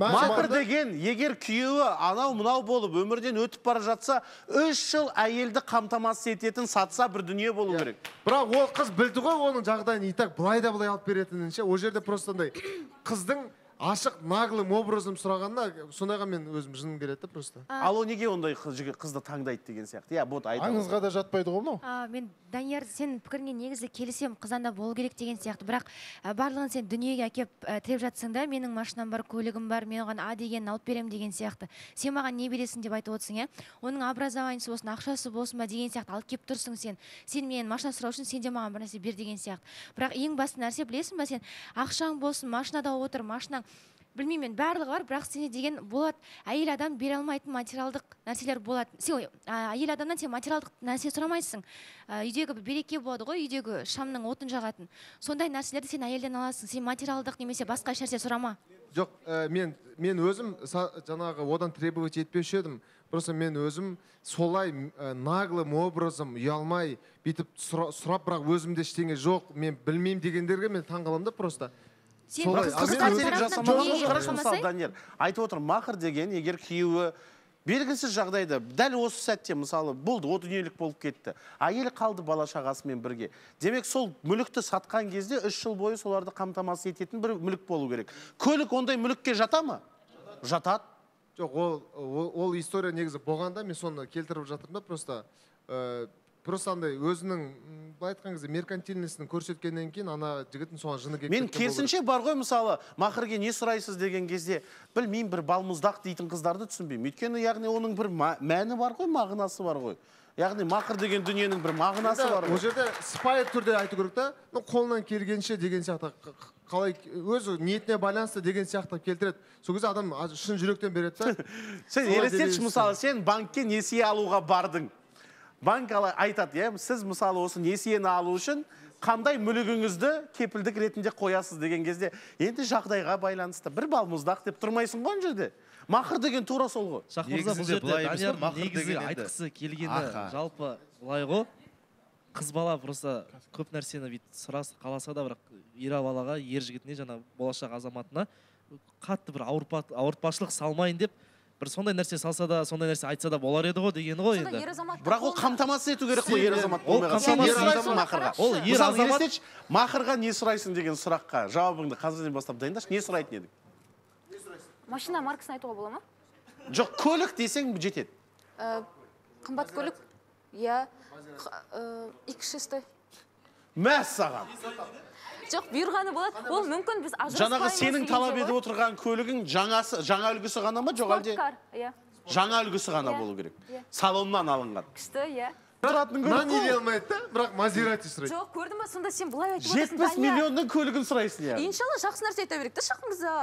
Махыр деген егер күйеуі анау мынау болып өмірден өтіп бара жатса, 3 жыл әйелді қамтамасыз ететін сатса бір дүние болу керек. Бірақ ол қыз білді ғой оның жағдайын, итак былай да былай алып беретінін ше. Ол жерде просто қыздың ашық наглым образым сұрағанда сондайға мен өзім жыным келеді просто. Ал ол неге ондай қызды таңдайды деген сияқты? Аңызға да жатпайды ғой мынау. Мен Данияр, сен пікіріңе негізі келісем, қызанда болу керек деген сияқты. Бірақ барлығын сен дүниеге әкеп тіреп жатсың да, менің машинам бар, көлігім бар, мен оған дегенін алып берем деген сияқты. Сен маған не бересің деп айтып отырсың, иә? Оның образованиесі болсын, ақшасы болсын ба деген сияқты алып келіп тұрсың сен. Сен менен машина сұрау үшін сен де маған бір нәрсе бер деген сияқты. Бірақ ең басты нәрсе білесің ба сен? Ақшаң болсын, машинада отыр, машинаң білмеймін, барлығы бар, бірақ сене деген болады. Әйел адам бере алмайтын материалдық нәрселер болады. Сен әйел адамнан сен материалдық нәрсе сұрамайсың. Үйдегі береке болады ғой, үйдегі шамның отын жағатын. Сондай нәрселерді сен әйелден аласың. Сен материалдық немесе басқа нәрсе сұрама. Жоқ, мен өзім жаңағы одан требовать етпеуші едім. Просто мен өзім солай наглым образым ұялмай бүйтіп сұрап, бірақ өзімде ештеңе жоқ, мен білмеймін дегендерге мен таңғаламын да просто. Айтып отыр, махыр деген егер күйеуі белгісіз жағдайда дәл осы сәтте мысалы болды, о дүниелік болып кетті. Әйелі қалды бала шағасымен бірге. Демек сол мүлікті сатқан кезде 3 жыл бойы соларды қамтамасыз ететін бір мүлік болу керек. Көлік ондай мүлікке жата ма? Жатады. Жоқ, ол история негізі болғанда мен соны келтіріп жатырмын да, просто андай өзінің былай айтқан кезде меркантильностін көрсеткеннен кейін ана жігіттің соған жыны келіп мен керісінше бар ғой, мысалы мақырге не сұрайсыз деген кезде білмеймін, бір балмұздақ дейтін қыздарды түсінбеймін. Өйткені яғни оның бір мәні бар ғой, мағынасы бар ғой. Яғни мақыр деген дүниенің бір мағынасы бар ғой. Ол жерде сыпайы түрде айту керек та, қолынан келгенше деген сияқты қалай өзі ниетіне байланысты деген сияқты келтіреді. Сол кезде адам шын жүректен береді да. Сен елестетші, мысалы сен банкке несие алуға бардың. Банк айтады, сіз мысалы осы несиені алу үшін қандай мүлігіңізді кепілдік ретінде қоясыз деген кезде, енді жағдайға байланысты бір балмұздақ деп тұрмайсың ғой жерде. Мақыр деген тура сол ғой. Шақмырза, бұл жерде Данияр негізі айтқысы келгені жалпы былай ғой, қыз бала просто көп нәрсені сұрасы қаласа да, бірақ ер балаға, ер жігітіне, жаңа болашақ азаматына қатты бір ауыртпашылық салмайын деп, бір сондай нәрсе салса да, сондай нәрсе айтса да болар еді ғой дегені ғой енді. Бірақ ол қамтамасыз ету керек қой, ер азамат болмайға. Сен не сұрайсың мақырға? Мысалы, елестетші, мақырға не сұрайсың деген сұраққа жауабыңды қазірден бастап дайындашы, не сұрайтын едің? Машина маркасын айтуға бола ма? Жоқ, көлік десең жетеді. Қымбат көлік? Я X6. Мәссаған. Жоқ, бұйырғаны болады. Ол мүмкін біз ажыраспаймыз. Жаңағы сенің талап етіп отырған көлігің жаңа үлгісі ғана ма, жоқ әлде? Жаңа үлгісі ғана болу керек. Салоннан алынған. Күшті, иә. Нан еле алмайды да, бірақ Мазерати сұрайды. Жоқ, көрдің ба, сонда сен бұлай айтып отырсың. 70 миллионның көлігін сұрайсың, иә. Иншалла, жақсы нәрсе айта берейік та, Шақмырза.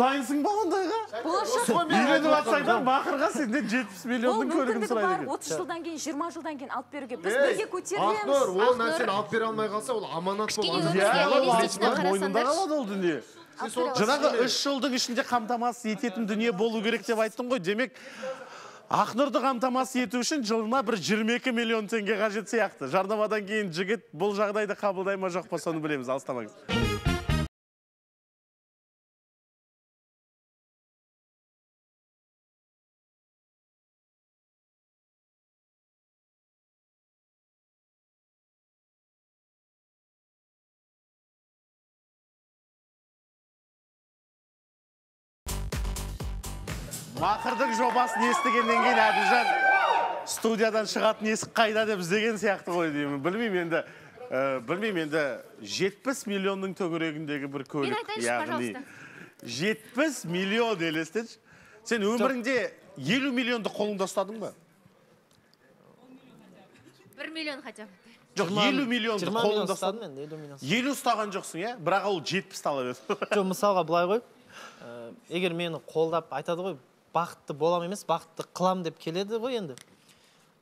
Дайынсың ба ондайға? Болашақ. Үйленіп атсайдан мақырға сенден 70 миллионның көлігін сұрайды екен. 30 жылдан кейін, 20 жылдан кейін алып беруге. Біз бірге көтерілеміз. Ақнұр, ол нәрсені алып бере алмай қалса, ол аманат болған. Мойнында қалады ол дүние. Жаңағы 3 жылдың ішінде қамтамасыз ететін дүние болу керек деп айттың ғой. Демек, Ақнұрды қамтамасыз ету үшін жылына бір 22 миллион теңге қажет сияқты. Жарнамадан кейін жігіт бұл жағдайды қабылдай ма жоқ па, соны білеміз. Алыстамаңыз. Мақырдың жобасын естігеннен кейін Әділжан студиядан шығатын есік қайда деп іздеген сияқты ғой деймін. Білмеймін енді 70 миллионның төңірегіндегі бір көлік. Мен айтайыншы, пожалуйста. 70 миллион елестетші. Сен өміріңде 50 миллионды қолыңда ұстадың ба? 1 миллион хотя бы. Жоқ, 50 миллионды қолыңда ұстадың? 50 ұстаған жоқсың, е? Бірақ ол 70 талап еді. Жоқ, мысалға былай ғой, егер мені қолдап айтады ғой, бақытты болам емес, бақытты қылам деп келеді ғой енді.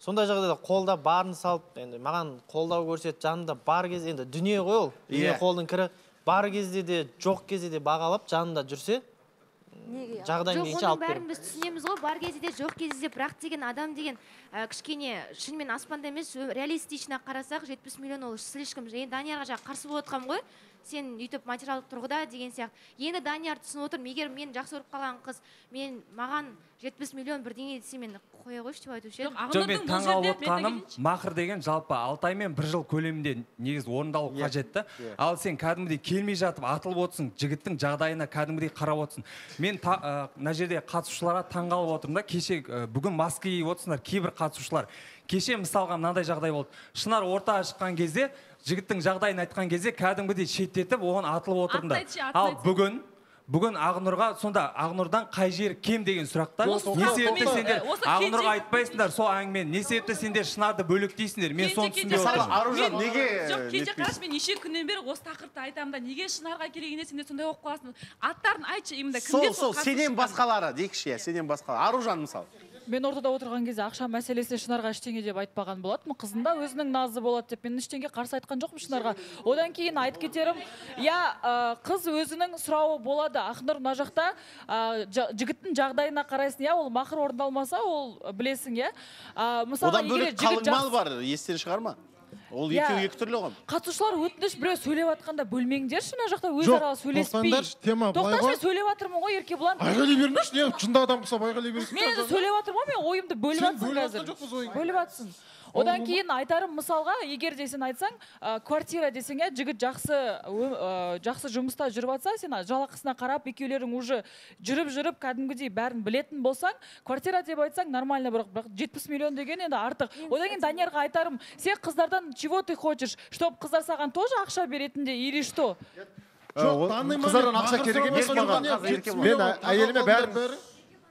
Сондай жағдайда қолда барын салып, енді маған қолдау көрсет, жанында бар кезде, енді дүние ғой ол. Дүние қолдың кірі, бар кезде де, жоқ кезде де бағалап, жанында жүрсе, жағдайын менше алып беріп. Жоқ, оның бәрін біз түсінеміз ғой, бар кезде де, жоқ кезде де, бірақ деген адам деген кішкене шынымен аспанда емес, реалистична қарасақ, 70 миллион ол слишком. Енді Даниярға жаңа қарсы болып отқам ғой, сен үйтіп материалдық тұрғыда деген сияқты. Енді Данияр түсініп отырмын, егер мен жақсы көріп қалған қыз, маған 70 миллион бірдеңе десе мен қоя қойшы деп айтушы едім. Жоқ, мен таңғалып отқаным, мақыр деген жалпы 6 ай мен 1 жыл көлемінде негіз орындалу қажетті. Ал сен кәдімгідей келмей жатып атылып отырсың, жігіттің жағдайына кәдімгідей қарап отырсың. Мен мына жерде қатысушыларға таңғалып отырмын да, кеше бүгін маска киіп отырсыңдар кейбір қатысушылар. Кеше мысалға мынандай жағдай болды. Шынар ортаға шыққан кезде, жігіттің жағдайын айтқан кезде кәдімгідей шеттетіп, оған атылып отырдыңдар. Ал бүгін Ақнұрға, сонда Ақнұрдан қай жері кем деген сұрақта, не себепті сендер Ақнұрға айтпайсыңдар, сол әңгімен, не себепті сендер Шынарды бөлектейсіңдер, мен соны түсінбей отырмын. Аружан, неге? Жоқ, кеше қараш, мен неше күннен бері осы тақырыпты айтамын да, неге Шынарға керегіне сендер сондай оқып қаласың? Аттарын айтшы, именно кімдер сол қатысушылар? Сенен басқалары, дейікші, сенен басқалары. Аружан мысалы. Мен ортада отырған кезде ақша мәселесіне Шынарға ештеңе деп айтпаған болатынмын. Қызында өзінің назы болады деп мен ештеңе қарсы айтқан жоқпын Шынарға. Одан кейін айтып кетерім, қыз өзінің сұрауы болады. Ақнұр мына жақта жігіттің жағдайына қарайсың, ол мақыр орындалмаса, ол білесің, одан бөлек қалың мал бар, естен шығарма. Ол екі түрлі ғой. Қатысушылар өтініш біреу сөйлеп жатқанда бөлмеңдерші, мына жақта өзара сөйлеспей. Тема былай ғой. Тоқташы, сөйлеп жатырмын ғой, Еркебұлан. Айғайлай бермеші, не жынды адам болса айғайлай бересің. Мен енді сөйлеп жатырмын ғой, мен ойымды бөліп жатсың қазір. Бөліп жатсың. Одан кейін айтарым, мысалға, егер де сен айтсаң, квартира десең, жігіт жақсы жұмыста жүріп жатса, сен жалақысына қарап, екеулерің уже жүріп кәдімгідей бәрін білетін болсаң, квартира деп айтсаң нормально, бірақ 70 миллион деген енді артық. Одан кейін Даниярға айтарым, сен қыздардан чего ты хочешь, чтоб қыздар саған тоже ақша беретінде или что? Қыздардан ақша керек емес маған. Мен әйеліме бәрін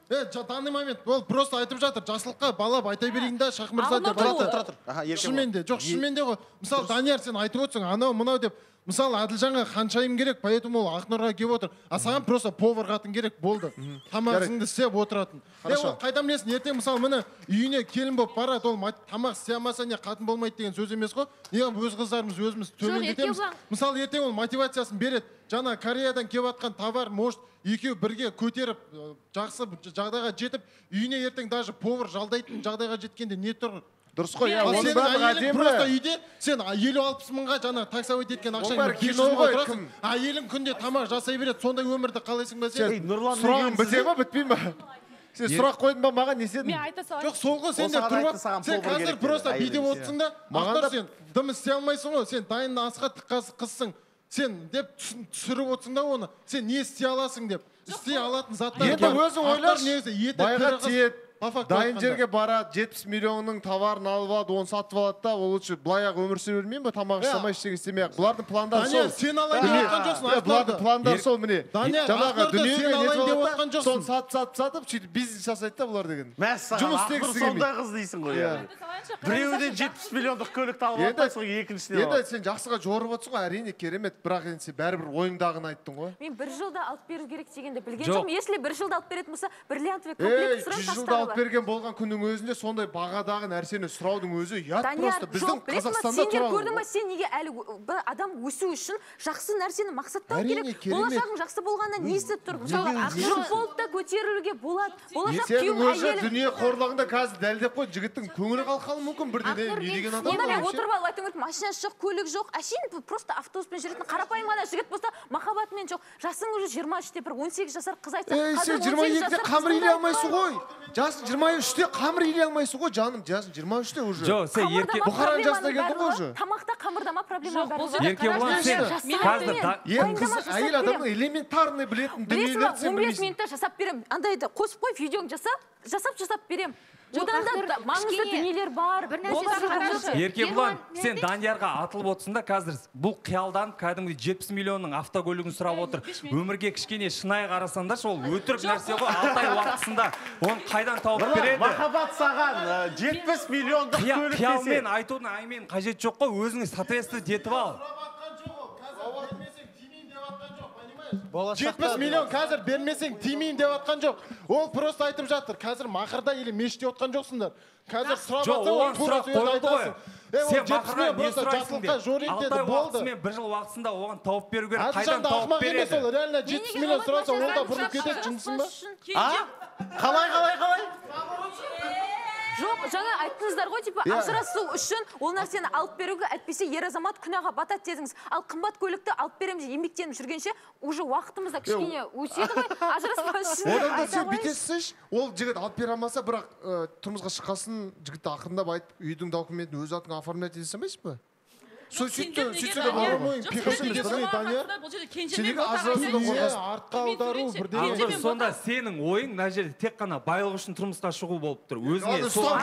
данный момент ол просто айтып жатыр, жақсылыққа балап айта берейін да, Шах мырза деп жатыр. Шынымен де, жоқ шынымен де ғой. Мысалы, Данияр сен айтып отырсың, анау мынау деп. Мысалы, Әділжанға қаншайым керек, поэтому ол Ақнұрға келіп отыр. А саған просто повар қатын керек болды. Тамағыңды істеп отыратын. Ол қайдан білесің, ертең мысалы міне үйіне келін болып барады, ол тамақ істей алмаса не қатын болмайды деген сөз емес қой. Неғып өз қыздарымыз өзіміз төмендетеміз. Мысалы, ертең ол мотивациясын береді. Жаңа Кореядан келіп жатқан товар, может, екеу бірге көтеріп, жақсы жағдайға жетіп, үйіне ертең даже повар жалдайтын жағдайға жеткенде не тұр? Дұрыс қой, оның бәрі әдемі. Просто үйде сен 50-60 мыңға жаңа таксовать еткен ақшаңды 500 мыңға тұрасың. Әйелің күнде тамақ жасай береді, сондай өмірді қалайсың ба сен? Сұрағым біте ма, бітпей ма? Сен сұрақ қойдың ба, маған не седің? Жоқ, сол ғой, сен де тұрып, сен қазір просто бидеп отырсың да, мақтар сен дым істей алмайсың ғой, сен дайын асқа тыққасы қызсың. Сен деп түсіріп отырсың да оны, сен не істей аласың деп. Істей алатын заттар. Енді өзің ойлашы, байға тиет. Дайын жерге барады, 70 миллионның товарын алып алады, оны сатып алады да, ол үшін былай-ақ өмір сүре бермейін ба, тамақ істемей ештеңе істемей-ақ. Бұлардың пландары сол. Сен алайын деп отқан жоқсың. Бұлардың пландары сол, міне. Жаңағы дүниеге нетіп отқан жоқсың. Соны сатып, сөйтіп бизнес жасайды да бұлар деген. Жұмыс істегісі келмейді. Сондай қыз дейсің ғой. Біреуден 70 миллиондық көлікті алып алыпсың, екіншісіне алып. Енді сен жақсыға жорып отырсың ғой, әрине керемет, бірақ енді сен бәрібір ойыңдағыны айттың ғой. Мен 1 жылда алып беру керек дегенде білген жоқпын. Если 1 жылда алып беретін болса, бриллиантовый комплект сұрап тастары бар. Берген болған күннің өзінде сондай бағадағы нәрсені сұраудың өзі ұят просто. Біздің Қазақстанда тұрады. Көрдің ба, сен неге әлі бір адам өсу үшін жақсы нәрсені мақсаттау керек? Болашағың жақсы болғанда не істеп тұр? Мысалы, жұп болып та көтерілуге болады. Болашақ күйеуің әйелің. Дүние қорлығында қазір дәлдеп қой, жігіттің көңілі қалқалы мүмкін бірден не деген адам. Онда мен отырып алып айтып отырмын, машинасы жоқ, көлік жоқ. Әшейін просто автобуспен жүретін қарапайым ғана жігіт болса, махаббатымен жоқ. Жасың уже 23-те, бір 18 жасар қыз айтса, сен 22-де қамыр илей алмайсың ғой. Жасың 23-те қамыр илей алмайсың ғой, жаным, жасың 23-те уже. Жоқ, сен ерке Бұхаран жасына келдің ғой уже. Тамақта қамырдама проблема бар. Еркебұлан, сен қазір әйел адамның элементарный білетін дүниелерді сен білмейсің. 15 минутта жасап берем. Андайды қосып қой, видеоң жасап берем. Одан да маңызды дүниелер бар. Еркебұлан, сен Даниярға атылып отырсың да қазір бұл қиялдан кәдімгідей 70 миллионның автокөлігін сұрап отыр. Өмірге кішкене шынайы қарасаңдаршы, ол өтірік нәрсе ғой, 6 ай уақытысында оны қайдан тауып береді? Махаббат саған 70 миллиондық көлік десе. Қиялмен айтудың аймен қажет жоқ қой, өзіңіз соответствовать етіп ал. 70 миллион қазір бермесең тимейін деп атқан жоқ. Ол просто айтып жатыр. Қазір мақырда или мешітте отқан жоқсыңдар. Қазір сұрап оған сұрақ қойылды ғой. Сен мақырда не сұрайсың деп. 6 ай уақытысымен 1 жыл уақытысында оған тауып беру керек. Қайдан тауып береді? Ол реально 70 миллион сұраса, ол да бұрылып кетеді, жынсың ба? Қалай? Жоқ, жаңа айттыңыздар ғой, типа, ажырасу үшін ол нәрсені алып беруге, әйтпесе ер азамат күнәға батады дедіңіз. Ал қымбат көлікті алып береміз, еңбектеніп жүргенше, уже уақытымызда кішкене өседі ғой, ажыраспас үшін. Одан да сен бүйтесіз, ол жігіт алып бере алмаса, бірақ тұрмысқа шыққасын жігітті ақырындап айтып, үйдің документін өз атыңа оформлять ете салмайсыз ба? Сөйтсе де бар ғой. Сенегі ажырасудан қорқасың. Артқа аудару бірдеңе. Сонда сенің ойың мына жерде тек қана байлық үшін тұрмысқа шығу болып тұр. Өзіңе соның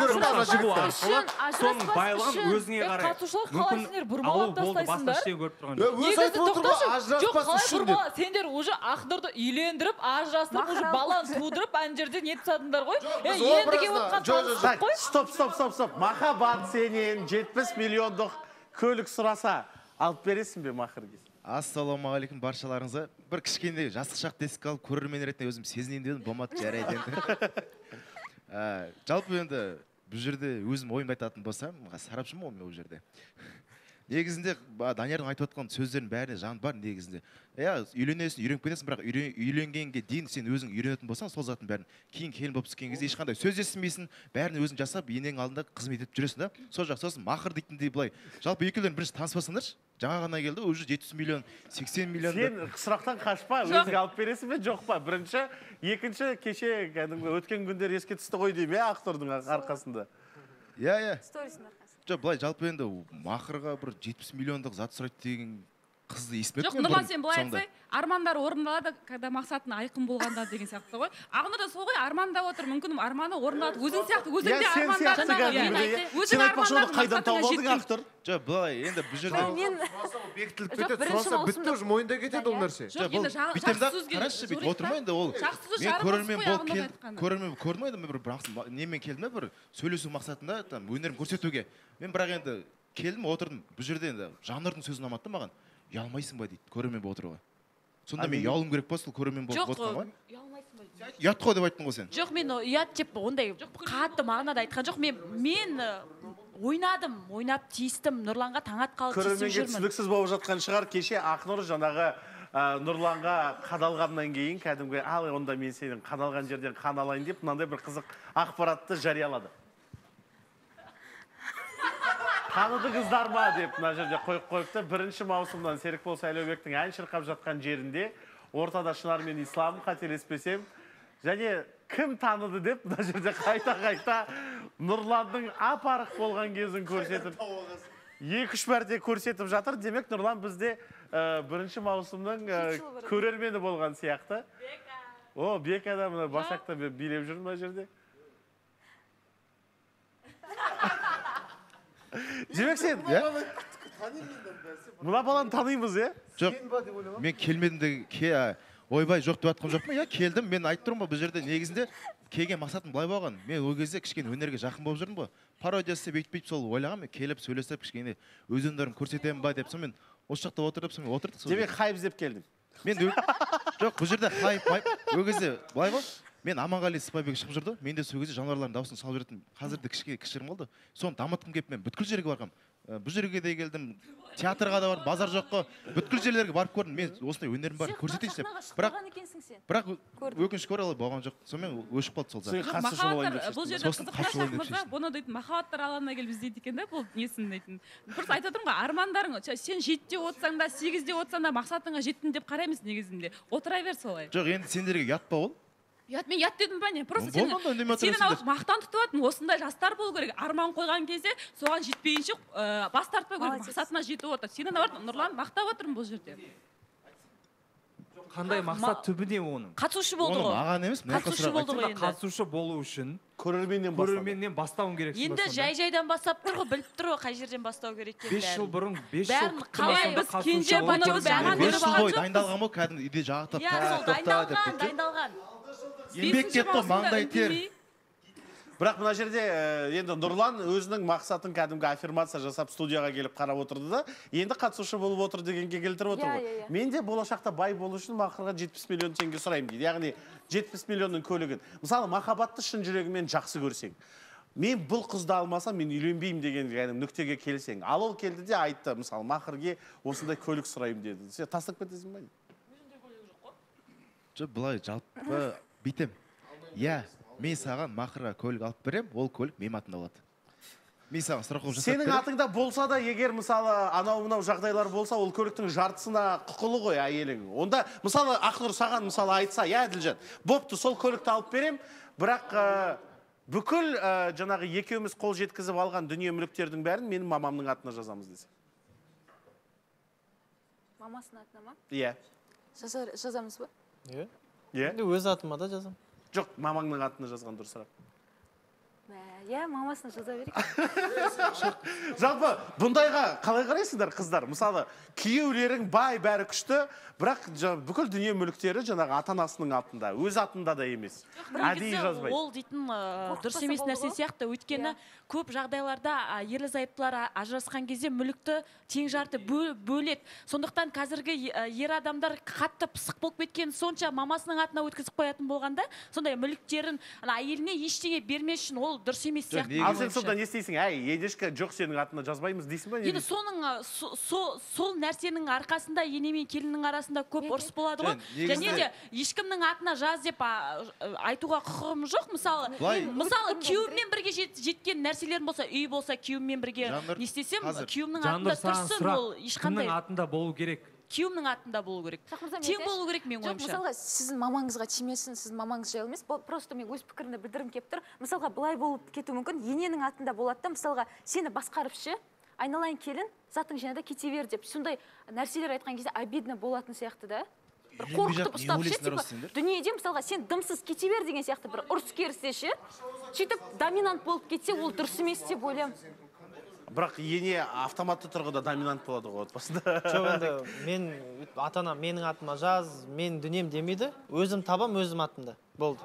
байлығын өзіңе қарай. Қатысушылар қалайсыңдар, бұрмалап тастайсыңдар. Өз айтып отыр ғой, ажыраспас үшін деп. Сендер уже Ақнұрды үйлендіріп, ажырастырып, уже баланы тудырып, ана жерде не тастадыңдар ғой. Енді келіп отқан таныстық қой. Стоп. Махаббат сенен 70 миллиондық көлік сұраса, алып бересің бе мақырге? Ассалаумағалейкум баршаларыңызға. Бір кішкенде жастық шақ тесік алып, көрермен ретінде өзім сезінейін дедім, болмады, жарайды енді. Жалпы енді бұл жерде өзім ойымды айтатын болсам, сарапшымын ол жерде. негізінде Даниярдың айтып отқан сөздерінің бәріне жан бар негізінде. Үйленесің, үйреніп кетесің, бірақ үйленгенге дейін сен өзің үйренетін болсаң, сол заттың бәрін кейін келін болып түскен кезде ешқандай сөз естімейсің, бәрін өзің жасап, енең алдында қызмет етіп жүресің да. Сол жақ сосын мақыр дейтіндей былай. Жалпы екеулерің бірінші таныспасаңдаршы, жаңа ғана келді, уже 700 миллион, 80 миллион. Сен сұрақтан қашпа, өзің алып бересің бе, жоқ па? Бірінші, екінші кеше өткен күндер еске түсті ғой деймін, актордың арқасында. Иә. Жоқ, былай жалпы енді мақырға бір 70 миллиондық зат сұрайды деген қызды естімеппін. Жоқ, Нұрлан, сен былай айтсай, армандар орындалады, когда мақсатын айқын болғанда деген сияқты ғой. Ақнұр да сол ғой, армандап отыр, мүмкін арманы орындалады. Өзің сияқты, өзің де армандар. Сен айтпақшы оны қайдан тауып алдың, Ақтұр? Жоқ, былай енді бұл жерде бекітіліп кетеді, сұраса бітті уже мойында кетеді ол нәрсе. Жоқ, енді жақсы сөзге қарашы, бүйтіп отырма енді ол. Мен көрермен көрдім енді бір немен келдім бір сөйлесу мақсатында өнерім көрсетуге. Мен бірақ енді келдім, отырдым. Бұл жерде енді жанрдың сөзін ұнамады маған. Ұялмайсың ба дейді, көрермен болып отыруға. Сонда мен ұялым керек па сол көрермен болып отырған ғой? Ұялмайсың ба? Ұят қой деп айттың ғой сен. Жоқ, мен ұят деп ондай қатты мағынада айтқан жоқ. Мен ойнап тиістім, Нұрланға таң атқалы тиісіп жүрмін. Көрерменге түсініксіз болып жатқан шығар, кеше Ақнұр жаңағы Нұрланға қадалғаннан кейін кәдімгі ал онда мен сенің қадалған жерден қан алайын деп мынандай бір қызық ақпаратты жариялады. Таныды қыздар ма деп мына жерде қойыпты. 1 маусымдан Серікбол Сайлаубектің ән шырқап жатқан жерінде ортада Шынар мен Ислам, қателеспесем, және кім таныды деп мына жерде қайта Нұрландың апарық болған кезін көрсетіп 2-3 мәрте көрсетіп жатыр. Демек Нұрлан бізде 1 маусымның көрермені болған сияқты. Бека да мына Басақта билеп жүр мына жерде. Демек сен, мұна баланы танимыз, Жоқ, мен келмедім де, ойбай жоқ деп атқым жоқ па? Келдім, мен айтып тұрмын ба, бұл жерде негізінде келген мақсатым былай болған. Мен ол кезде кішкене өнерге жақын болып жүрдім ба, пародиясы бүйтіп сол ойлағам, мен келіп сөйлесіп кішкене өз өнерімді көрсетемін ба деп, сонымен осы жақта отырдық. Демек хайп іздеп келдің. Мен жоқ, бұл жерде хайп, ол кезде былай ғой. Мен Аманғали Сыпайбек шығып жүрді. Мен де сол кезде жануарлардың дауысын салып жүрдім. Қазір де кішкірім болды. Соны дамытқым келіп мен бүткіл жерге барғам. Бұл жерге де келдім. Театрға да бардым, базар жоққа. Бүткіл жерлерге барып көрдім. Мен осындай өнерім бар, көрсетейінші деп. Бірақ өкінішке орай болған жоқ. Сонымен өшіп қалды сол зат. Бұл жерде қызыққа мырза, бұны дейтін махаббаттар алаңына келіп іздейді екен да, бұл несін дейтін. Просто айтып отырмын ғой, армандарың, сен 7-де отсаң да, 8-де отсаң да мақсатыңа жеттің деп қараймыз негізінде. Отыра бер солай. Жоқ, енді сендерге ұят па ол? Мен ұят дедім ба не? Просто сенің мақтан тұтып атын, осындай жастар болу керек. Арман қойған кезде соған жетпейінше бас тартпай керек, мақсатына жетіп отыр. Сенің Нұрлан мақтап отырмын бұл жерде. Қандай мақсат түбіне оның? Қатысушы болды ғой. Маған емес, қатысушы болу үшін көрерменнен бастауың керексің. Енді жай-жайдан бастап тұр ғой, біліп тұр ғой, қай жерден бастау керек екенін. 5 жыл бұрын, 5 жыл қалай біз кенже бұны бәрін беріп алған жоқпыз. Дайындалған ғой, кәдімгі үйде жағатып, дайындалған. Еңбек кетті, маңдай тер. Бірақ мына жерде енді Нұрлан өзінің мақсатын кәдімгі аффирмация жасап студияға келіп қарап отырды да, енді қатысушы болып отыр дегенге келтіріп отыр ғой. Мен де болашақта бай болу үшін мақырға 70 миллион теңге сұраймын дейді. Яғни 70 миллионның көлігін. Мысалы, махаббатты шын жүрегімен жақсы көрсең, мен бұл қызды алмасам, мен үйленбеймін деген нүктеге келсең. Ал ол келді де айтты, мысалы, мақырге осындай көлік сұраймын деді. Сен тастап кетесің ба? Жоқ, былай жалпы бүйтем. Мен саған мақырға көлік алып берем, ол көлік менің атымда болады. Мен саған сұрақ қойып жасап берем. Сенің атыңда болса да, егер мысалы анау-мынау жағдайлар болса, ол көліктің жартысына құқылы ғой әйелің. Онда мысалы Ақнұр саған мысалы айтса, Әділжан, бопты, сол көлікті алып берем, бірақ бүкіл жаңағы екеуміз қол жеткізіп алған дүние мүліктердің бәрін менің мамамның атына жазамыз десе. Мамасының атына ма? Иә. Жазамыз ба? Иә. Өз атыма да жазам. Жоқ, мамаңның атына жазған дұрысырақ. Мамасына жаза берейік. Жалпы, бұндайға қалай қарайсыңдар қыздар? Мысалы, күйеулерің бай, бәрі күшті, бірақ бүкіл дүние мүліктері жаңағы ата-анасының атында, өз атында да емес. Әдейі жазбайды. Ол дейтін дұрыс емес нәрсе сияқты, өйткені көп жағдайларда ерлі зайыптылар ажырасқан кезде мүлікті тең жарты бөледі. Сондықтан қазіргі ер адамдар қатты пысық болып кеткен сонша мамасының атына өткізіп қоятын болғанда, сондай мүліктерін әйеліне ештеңе бермес үшін ол дұрыс емес сияқты. Ал сен сонда не істейсің? Әй, едешкі жоқ сенің атына жазбаймыз дейсің ба? Енді сол нәрсенің арқасында ене мен келіннің арасында көп ұрыс болады ғой. Және де ешкімнің атына жаз деп айтуға құқығым жоқ. Мысалы күйеуіммен бірге жеткен нәрселерім болса, үй болса, күйеуіммен бірге не істесем, күйеуімнің атында тұрсын, ол ешқандай. Кімнің атында болу керек? Күйеуімнің атында болу керек. Тең болу керек мен ойымша. Мысалға, сіздің мамаңызға тимесін, сіздің мамаңыз жайлы емес. Просто мен өз пікірімді білдіргім келіп тұр. Мысалға, былай болып кетуі мүмкін, ененің атында болады да, мысалға, сені басқарып ше, айналайын келін, затың жаңада кете бер деп. Сондай нәрселер айтқан кезде обидно болатын сияқты да. Бір қорқытып ұстап ше, дүниеде мысалға сен дымсыз кете бер деген сияқты бір ұрыс керісе ше, сөйтіп доминант болып кетсе, ол дұрыс емес деп ойлаймын. Бірақ ене автоматты тұрғыда доминант болады ғой отбасында. Жоқ, енді мен ата-анам менің атыма жаз, мен дүнием демейді, өзім табам өзім атымда. Болды.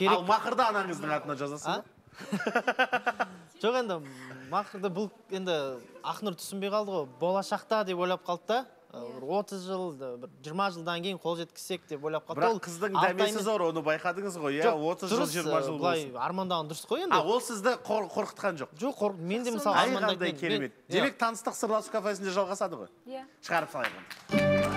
Ал мақырды анаңыздың атына жазасың ба? Жоқ, енді мақырды бұл енді Ақнұр түсінбей қалды ғой. Болашақта деп ойлап қалды да. 30 жыл, 20 жылдан кейін қол жеткізсек деп ойлап қалды. Бірақ қыздың дәмесі зор, оны байқадыңыз ғой, иә, 30 жыл, 20 жыл болсын. Армандаған дұрыс қой енді. Ол сізді қорқытқан жоқ? Жоқ, мен де мысалы армандайтын. Демек таныстық сырласу кафесінде жалғасады ғой? Шығарып салайық.